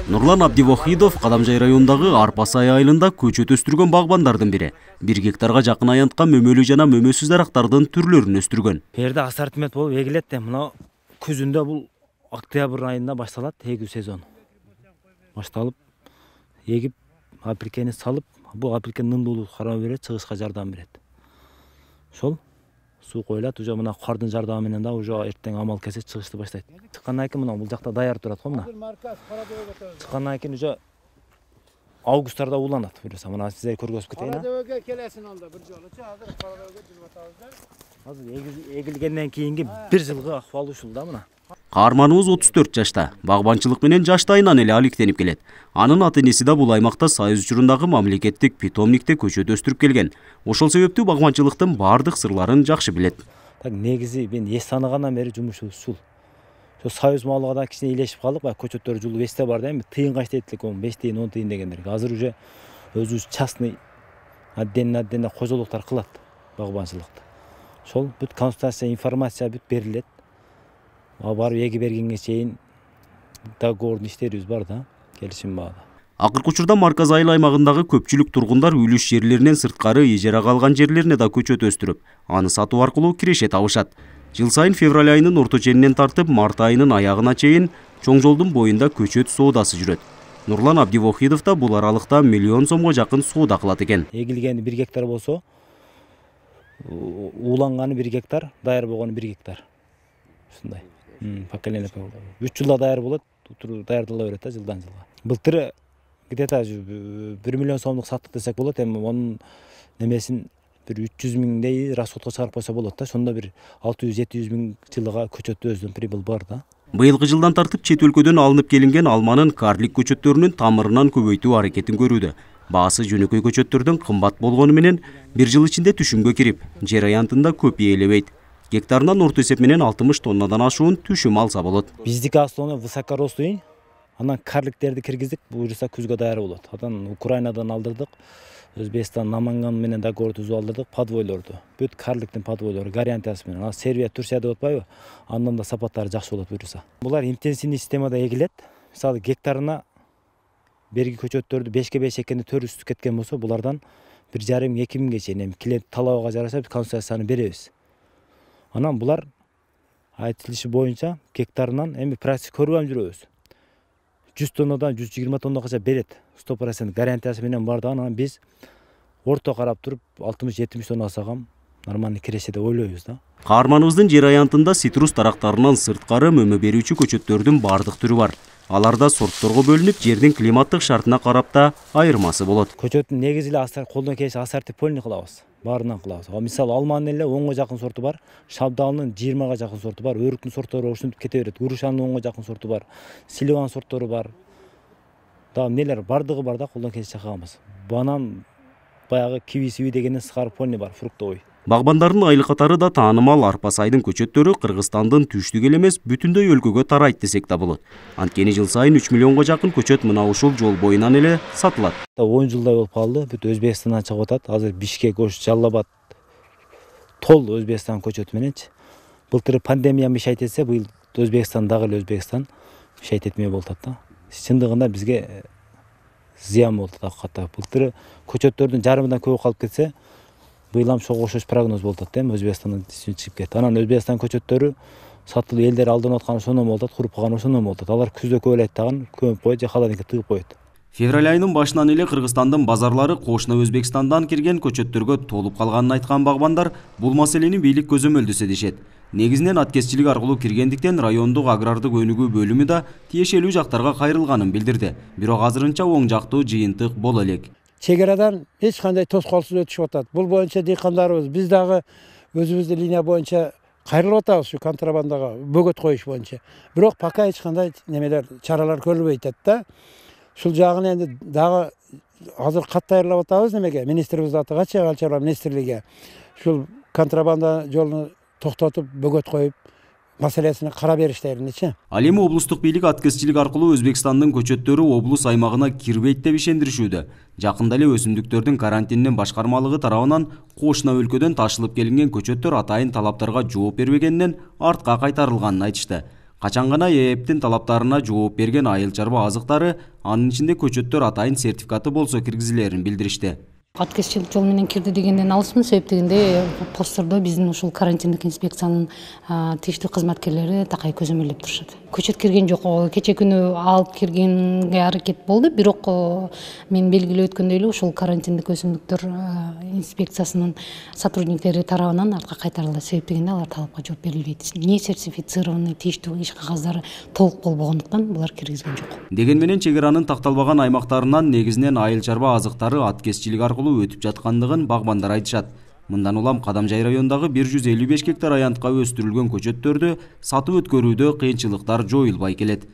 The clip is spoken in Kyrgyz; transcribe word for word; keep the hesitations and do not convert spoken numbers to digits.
Нурлан Абдивахидов Кадамжай районундагы Арпасай айылында көчөт өстүргөн багбандардын бири. Бир гектарга жакын аянткан мөмөлүү жана мөмөсүз дарактардын түрлөрүн өстүргөн. Жерде ассортимент болуп эгилет да. Мына күзүндө бул октябрь айында башталат эгүү сезону. Башталып, эгип, апилкени салып, бул апилкен нымдуулук карап берет, чыгышка жардам берет. Ошол суу коюлат, уже мына кардын жардамы менен да уже эртең амал кесе чыгышты баштайт. Чыккандан кийин мына бул жакта даяр турат го мына. Чыккандан кийин уже августтарда уланат. Буюрса мына сиздер көргөзүп кетейин. Карадөбөгө келесин онда бир жолу. Азыр Карадөбөгө жүрүп атабыздар. Азыр эгилгенден кийинки бир жылгы акыбалы ушул да мына. Каарманыбыз отуз төрт жашта. Багбанчылык менен жаштайынан эле алектенип келет. Анын ата-энеси да бул аймакта Союз учурундагы мамлекеттик питомникте көчөт өстүрүп келген. Ошол себептүү багбанчылыктын бардык сырларын жакшы билет. Так негизи мен эс тааныгандан бери жумушубуз ушул. Ошо Союз малыга да кичине илешип калдык, баягы көчөттөр жулуп эсте бар да, эми тыйынга иштейт элек, беш тыйын, он тыйын дегендер. Азыр уже өзүбүз частный отдельно отдельно кожолуктар кылат багбанчылыкты. Ошол бүт консультация, информация бүт берилет. Барып эги бергенге чейин договордун иштерибиз бар да, келишим баада. Акыркы учурда Марказ айыл аймагындагы көпчүлүк тургундар үлүш жерлеринен сырткары ижарага алган жерлерине да көчөт өстүрүп, аны сатуу аркылуу киреше табышат. Жыл сайын февраль айынын орто ченинен тартып март айынын аягына чейин чоң жолдун боюнда көчөт соодасы жүрөт. Нурлан Абдивахидов да бул аралыкта миллион сомго жакын соода кылат экен. Эгилгени бир гектар болсо, ууланганы бир гектар, даяр болгону бир гектар. Ушундай. Поколение үч жылда даяр болот, даярдала берет да жылдан жылга. Былтыр где-то бир миллион сомдук саттык десек болот, эми анын немесин бир үч жүз миңдей расходко чыгарып койсо болот да. Сонда бир алты жүз жети жүз миң жылга көчөттө өзүнүн прибыль бар да. Быйылкы жылдан тартып чет өлкөдөн алынып келинген алманын карлик көчөттөрүнүн тамырынан көбөйтүү аракетин көрүүдө. Баасы жөнөкөй көчөттөрдүн кымбат болгону менен бир жыл ичинде түшүмгө кирип, жер аянтында көп ээлебейт. Гектарынан орто эсеп менен алтымыш тоннадан ашуун түшүм алса болот. Биздики основной высокорослый, анан карликтерди киргиздик, буюрса күзгө даяр болот. Анан Украинадан алдырдык, Өзбекстан, Наманган менен договор түзүп алдырдык, подвойлорду. Бүт карликтин подвойлору гарантиясы менен. Ал Сербия, Турция деп атпайбы? Андан да сапаттары жакшы болот буюрса. Булар интенсивный системада эгилет. Мисалы гектарына берги көчөттөрдү бешке беш экенди төрт үстү кеткен болсо, булардан бир жарым эки миңге чейин клиент талабыга жараша консультацияны беребиз. Анан булар айтылышы боюнча гектарынан эми практика көрүп жүрөбүз. жүз тоннадан жүз жыйырма тоннага берет. сто процент гарантиясы менен бар да, анан биз орто карап туруп алтымыш жетимиш тонна алсагам нормальный киреше деп ойлойбуз да. Каарманыбыздын жер аянтында цитрус дарактарынан сырткары мөмө берүүчү көчөттөрдүн бардык түрү бар. Аларда сортторго бөлүнүп, жердин климаттык шартына карап да айырмасы болот. Көчөттүн негизи эле асар колдон келиши ассортипольный кылабыз. Баарынан кылабыз. Мисалы алманын эле онго жакын сорту бар, шабдалынын жыйырмага жакын сорту бар, өрүктүн сорттору ушинтип кете берет. Грушанын онго жакын сорту бар, силиван сорттору бар. Да нелер бардыгы бар да, колдон келиши чакаганбыз. Банан баягы киви-сиви дегенден сыгарпольный бар, фруктовый. Багбандардын айыл катары да таанымал Арпасайдын көчөттөрү Кыргызстандын түштүк эле эмес, бүтүндөй өлкөгө тарайт десек да болот. Анткени жыл сайын үч миллионго жакын көчөт мына ушул жол боюнан эле сатылат. он жылдай болуп калды, бүт Өзбекстандан чыгып атат. Азыр Бишкек, Ош, Жалал-Абад тол Өзбекстан көчөтү мененчи. Былтыр пандемия мешайт этсе, быйыл Өзбекстан дагы эле Өзбекстан мешайт этмей болуп атат да. Чындыгында бизге зыян болуп атат акырката. Былтыр көчөттөрдүн жарымынан көбү калып кетсе, быйыл ам ошого окшош прогноз болуп атат, эми Өзбекстандан чыгып кетти. Анан Өзбекстан көчөттөрү сатылып элдер алдынып атканы ошондон болуп атат, куруп калганы ошондон болуп атат. Алар күздө көбөлөйт дагы, көмүп коет же холодильникке тыгып коет. Февраль айынын башынан эле Кыргызстандын базарлары кошуна Өзбекстандан кирген көчөттөргө толуп калганын айткан багбандар бул маселени бийлик көзөмөлдөсө дешет. Негизинен аткезчилик аркылуу киргендиктен райондук агрардык өнүгүү бөлүмү да тиешелүү жактарга кайрылганын билдирди. Бирок азырынча оң жактуу жыйынтык боло элек. Чек арадан эч кандай тоскоолсуз өтүшүп атат. Бул боюнча дыйкандарыбыз биз дагы өзүбүздүн линия боюнча кайрылып атабыз ушу контрабандага бөгөт коюш боюнча. Бирок пока эч кандай немелер, чаралар көрүлбөй атат да. Ушул жагын энди дагы азыр кат даярдап атабыз немеге, министрибиз атыга, чыга чарба министрлиги. Ушул контрабанда жолун токтотуп, бөгөт коюп, маселесине кара бериштериничи. Ал эми облустук бийлик аткезчилик аркылуу Өзбекстандын көчөттөрү облус аймагына кирбейт деп ишендиришүүдө. Жакында эле өсүмдүктөрдүн карантиндин башкармалыгы тарабынан кошуна өлкөдөн ташылып келинген көчөттөр атайын талаптарга жооп бербегенинен артка кайтарылганын айтышты. Качан гана ээптин талаптарына жооп берген айыл чарба азыктары, анын ичинде көчөттөр атайын сертификаты болсо киргизилерин билдиришти. Откесчилик жол менен кирди дегенден алысмын, себеп дегенде посттордо биздин ушул карантиндик инспекциянын тийиштүү кызматкерлери такай көзөмөлдөп турушат. Көчөт кирген жок, кече күнү алып киргенге аракет болду, бирок мен белгилеп өткөндөй эле ушул карантиндик өсүмдүктөр инспекциясынын сотрудниктери тарабынан артка кайтарылды, себеп дегенде алар талапка жооп берилбейт. Не сертифицированный тийиштүү иш кагаздары толук болбогондуктан булар киргизген жок. Деген менен чек аранын такталбаган аймактарынан негизинен айыл чарба азыктары аткезчилик аркылуу өтүп жаткандыгын багбандар айтышат. Мындан улам Кадамжай районундагы бир жүз элүү беш гектар аянтка өстүрүлгөн көчөттөрдү сатып өткөрүүдө кыйынчылыктар жоюлбай келет.